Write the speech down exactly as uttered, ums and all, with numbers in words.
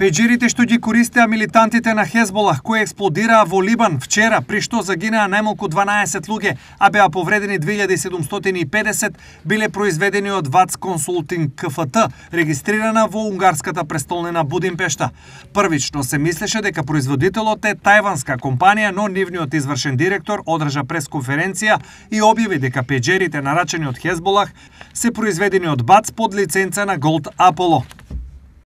Пеџерите што ги користеа милитантите на Хезболах кои експлодираа во Либан вчера, при што загинаа најмалку дванаесет луѓе, а беа повредени две илјади седумстотини и педесет, биле произведени од ВАЦ Консултинг КФТ, регистрирана во унгарската престолнина Будимпешта. Првично се мислеше дека производителот е тајванска компанија, но нивниот извршен директор одржа пресконференција и објави дека пеџерите нарачени од Хезболах се произведени од БАЦ под лиценца на Голд Аполо.